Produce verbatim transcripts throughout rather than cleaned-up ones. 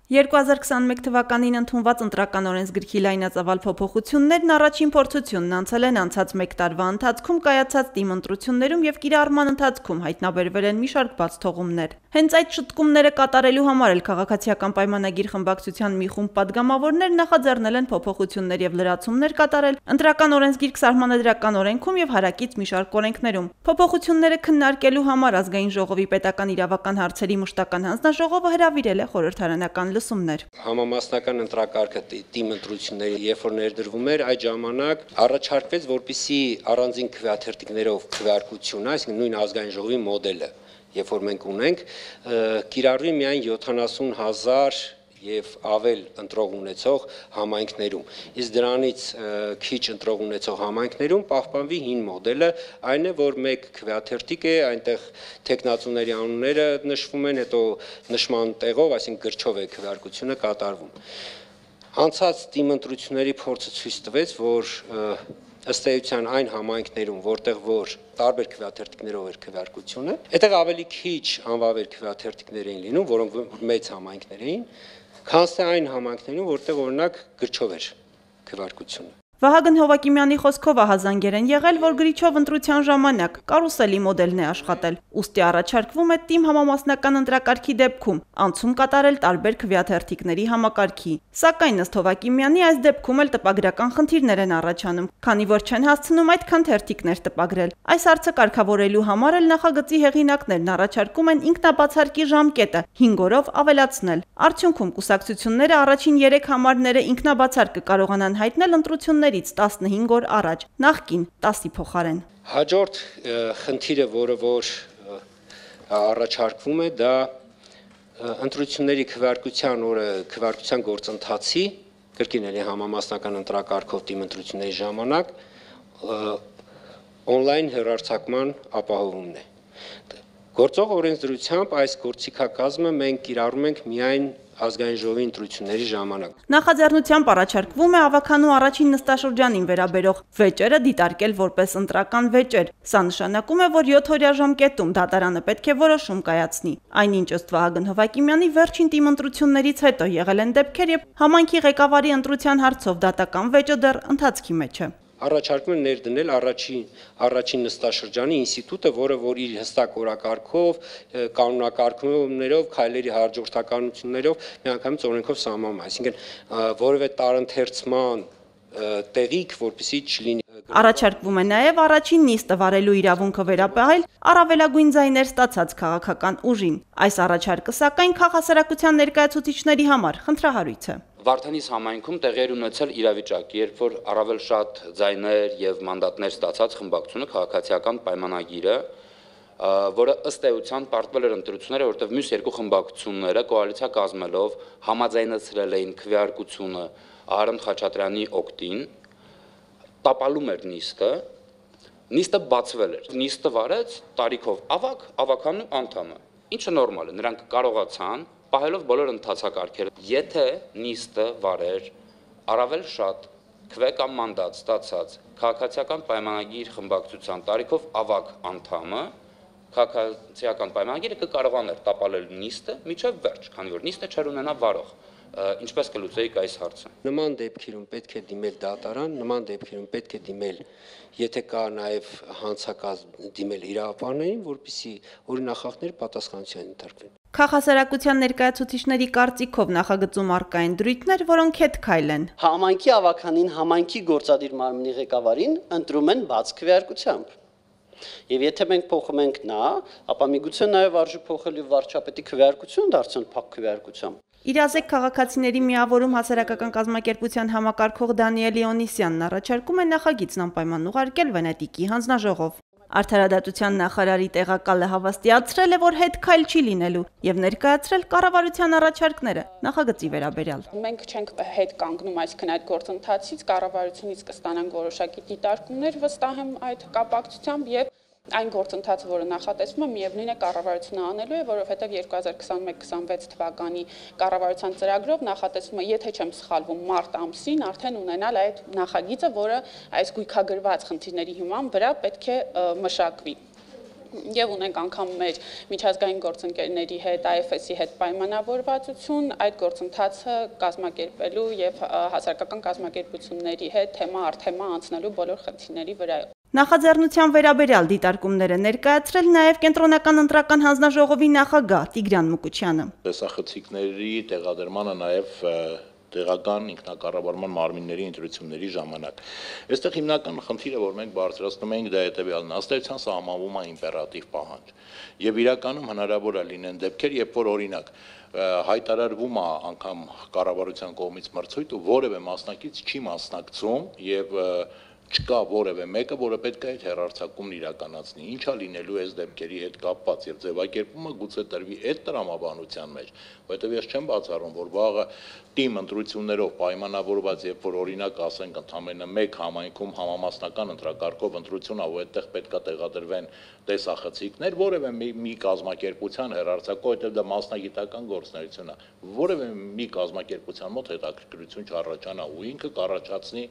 երկու հազար քսաներեք թվականին ընդունված ընտրական օրենսգրքի լայնածավալ փոփոխություններն առաջին փորձությունն անցել են անցած մեկ տարվա ընթացքում կայացած թիմ ընտրություններում եւ կիրառման ընթացքում հայտնաբերվել են մի շարք բացթողումներ։ Հենց այդ շտկումները կատարելու համար էլ քաղաքացիական պայմանագիր խմբակցության մի խումբ падգամավորներ նախաձեռնել են փոփոխություններ եւ լրացումներ կատարել ընտրական օրենսգիրք սահմանադրական օրենքում եւ հարակից մի շարք օրենքներում։ Փոփոխությունները քննարկելու համար ազգային ժողովի պետական իրավական հարցերի մշտական հանձնաժողովը հրավիրել է խորհրդարանական լսումներ։ Համամասնական ընտրակարգը թիմ ընտրությունների երբ որ ներդրվում էր, այդ ժամանակ առաջարկվեց, որպեսզի առանձին քվեաթերթիկներով քվեարկությունը, այսինքն նույն ազգային ժողովի մոդելը, երբ որ մենք ունենք, կիրառվի միայն յոթանասուն հազար եւ ավել ընտրող ունեցող համայնքներում։ Իսկ դրանից քիչ ընտրող ունեցող համայնքներում պահպանվի հին մոդելը, այն է, որ մեկ քվեաթերթիկ է, այնտեղ տեխնացուների անունները նշվում են, հետո նշման տեղով, այսինքն գրչով է քվեարկությունը կատարվում։ Անցած թիմ ընտրությունների փորձը ցույց տվեց, որ ըստ էության այն համայնքներում, որտեղ որ տարբեր քվեաթերթիկներով էր քվեարկությունը, այդտեղ ավելի քիչ անվավեր քվեաթերթիկներ էին լինում, որոնք մեծ համայնքներ էին, քան թե այն համայնքներում, որտեղ օրինակ գրչով էր քվեարկությունը։ Վահագն Հովակիմյանի խոսքով ահազանգեր են եղել, որ գրիչով ընտրության ժամանակ կարուսելի մոդելն է աշխատել, ուստի առաջարկվում է թիմ համամասնական ընտրակարգի դեպքում անցում կատարել տարբեր քվեաթերթիկների համակարգի։ Սակայն ըստ Հովակիմյանի այս դեպքում էլ տպագրական խնդիրներ են առաջանում, քանի որ չեն հասցնում այդքան թերթիկներ տպագրել։ Այս հարցը կարգավորելու համար էլ նախագծի հեղինակներն առաջարկում են ինքնաբացարկի ժամկետը հինգ օրով ավելացնել։ Արդյունքում կուսակցությունները առաջին երեք համարները ինքնաբացարկ կկարողանան հայտնել ընտրություններ տասնհինգ օր առաջ, նախկին տասի փոխարեն։ Հաջորդ խնդիրը, որը որ առաջարկվում է, դա ընտրությունների քվեարկության օրը քվեարկության գործընթացի, կրկին էլի համամասնական ընտրակարգով թիմ ընտրությունների ժամանակ օնլայն հեռարձակման ապահովումն է։ Գործող օրենսդրությամբ այս գործիքակազմը մենք կիրառում ենք միայն ազգային ժողովի ընտրությունների ժամանակ։ Նախաձեռնությամբ առաջարկվում է ավականու առաջին նստաշրջանին վերաբերող վեճերը դիտարկել որպես ընտրական վեճեր։ Սա նշանակում է, որ յոթ օրյա ժամկետում դատարանը պետք է որոշում կայացնի։ Այնինչ ըստ Վահագն Հովակիմյանի վերջին թիմ ընտրություններից հետո եղել են դեպքեր, երբ համայնքի ղեկավարի ընտրության հարցով դատական վեճը դեռ ընթացքի մեջ է։ Առաջարկում են ներդնել առաջին առաջին նստաշրջանի ինստիտուտը, որը որ իր հստակ օրակարգով, կանոնակարգումներով, քայլերի հաջորդականություններով միանգամից օրենքով սահմանվում է, այսինքն որևէ տարընթերցման տեղիք, որպեսզի չլինի։ Առաջարկվում է նաև առաջին նիստը վարելու իրավունքը վերապահել առավելագույն ձայներ ստացած քաղաքական ուժին։ Այս առաջարկը սակայն քաղաքասարակության ներկայացուցիչների համար խնդրահարույց է։ Վարդանիս համայնքում տեղի էր ունեցել իրավիճակ, երբ որ առավել շատ ձայներ եւ մանդատներ ստացած խմբակցությունը քաղաքացիական պայմանագիրը, որը ըստ էության պարտվել էր ընտրությունները, որտեղ մյուս երկու խմբակցությունները կոալիցիա կազմելով համաձայնեցրել էին քվեարկությունը Արամ Խաչատրյանի օգտին, տապալում էր նիստը, նիստը բացվել էր։ Նիստը վարեց տարիքով ավակ, ավականու անդամը, ինչը նորմալ է, նրանք կարողացան պահելով բոլոր ընթացակարգերը, եթե նիստը վարեր առավել շատ քվե կամ մանդատ ստացած քաղաքացիական պայմանագիր խմբակցության տարիքով ավակ անդամը, քաղաքացիական պայմանագիրը կկարողաներ տապալել նիստը միջև վերջ, քանի որ նիստը չէր ունենա վարող։ Ինչպես կլուծեիք այս հարցը։ Նման դեպքերում պետք է դիմել դատարան, նման դեպքերում պետք է դիմել, եթե կա նաև հանցակազմ դիմել իրավապահներին, որպեսզի օրինախախտները պատասխանատվության ենթարկվեն։ Քաղաքասարակության ներկայացուցիչների կարծիքով նախագծում առկա են դրույթներ, որոնք հետ քայլ են։ Համայնքի ավականին, համայնքի գործադիր մարմնի ղեկավարին ընտրում են բաց քվեարկությամբ։ Եվ եթե մենք փոխում ենք նա, ապա միգուցե նաև արժի փոխել վարչապետի քվեարկություն դարձնել փակ քվեարկությամբ։ Իրազեկ քաղաքացիների միավորում հասարակական կազմակերպության համակարգող Դանիել Իոնիսյանն առաջարկում է նախագիծն անպայման ուղարկել Վենետիկի հանձնաժողով։ Արդարադատության նախարարի տեղակալը հավաստիացրել է, որ հետ քայլ չի լինելու եւ ներկայացրել կառավարության առաջարկները նախագծի վերաբերյալ։ Մենք չենք հետ կանգնում, այսինքն այդ գործընթացից կառավարությունից կստանանք որոշակի դիտարկումներ, վստահ եմ այդ կապակցությամբ եւ այն գործընթացը, որը նախատեսվում է, միևնույն է կառավարությունը անելու է, որովհետև երկու հազար քսաներեք քսանվեց թվականի կառավարության ծրագրով նախատեսվում է, եթե չեմ սխալվում, մարտ ամսին արդեն ունենալ այդ նախագիծը, որը այս գույքագրված խնդիրների հիման վրա պետք է մշակվի։ եւ ունենք անգամ մեր միջազգային գործընկերների հետ, I F S-ի հետ պայմանավորվածություն այդ գործընթացը կազմակերպելու եւ հասարակական կազմակերպությունների հետ թեմա առ թեմա անցնելու բոլոր խնդիրների վրա։ Նախաձեռնության վերաբերյալ դիտարկումները ներկայացրել նաև կենտրոնական ընտրական հանձնաժողովի նախագահ Տիգրան Մուկուչյանը։ Տեսախցիկների տեղադրմանը նաև տեղական ինքնակառավարման մարմինների ընտրությունների ժամանակ։ Այստեղ հիմնական խնդիրը, որ մենք բարձրացնում ենք, դա հետևյալն է, ըստեյության սահմանվում է իմպերատիվ պահանջ։ Եվ իրականում հնարավոր է լինեն դեպքեր, երբ որ օրինակ հայտարարվում է անգամ կառավարության կողմից մրցույթ ու որևէ մասնակից չի մասնակցում եւ չկա որևէ մեկը, որը պետք է այդ հեռարձակումն իրականացնի։ Ինչա լինելու այս դեպքերի հետ կապված եւ ձևակերպումը գուցե տրվի այդ տրամաբանության մեջ, որովհետեւ ես չեմ բացառում, որ վաղը թիմ ընտրություններով պայմանավորված, երբ որ օրինակ ասենք ընդամենը մեկ համայնքում համամասնական ընտրակարգով ընտրություն ա, ու այդտեղ պետքա տեղադրվեն տեսախցիկներ, որևէ մի կազմակերպության հեռարձակող, որտեղ դա մասնագիտական գործունեություն է, որևէ մի կազմակերպության մոտ հետաքրքրություն չառաջանա ու ինքը կառաջացնի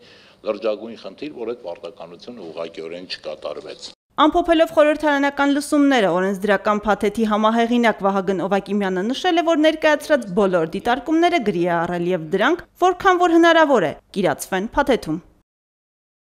լրջագույն խնդիր, որ այդ պարտականությունը ուղղակիորեն չկատարվեց։ Ամփոփելով խորհրդարանական լսումները, օրենսդրական փաթեթի համահեղինակ Վահագն Օվակիմյանը նշել է, որ ներկայացրած բոլոր դիտարկումները գրի է առել եւ դրանք, որքան որ հնարավոր է, կիրացվեն փաթեթում։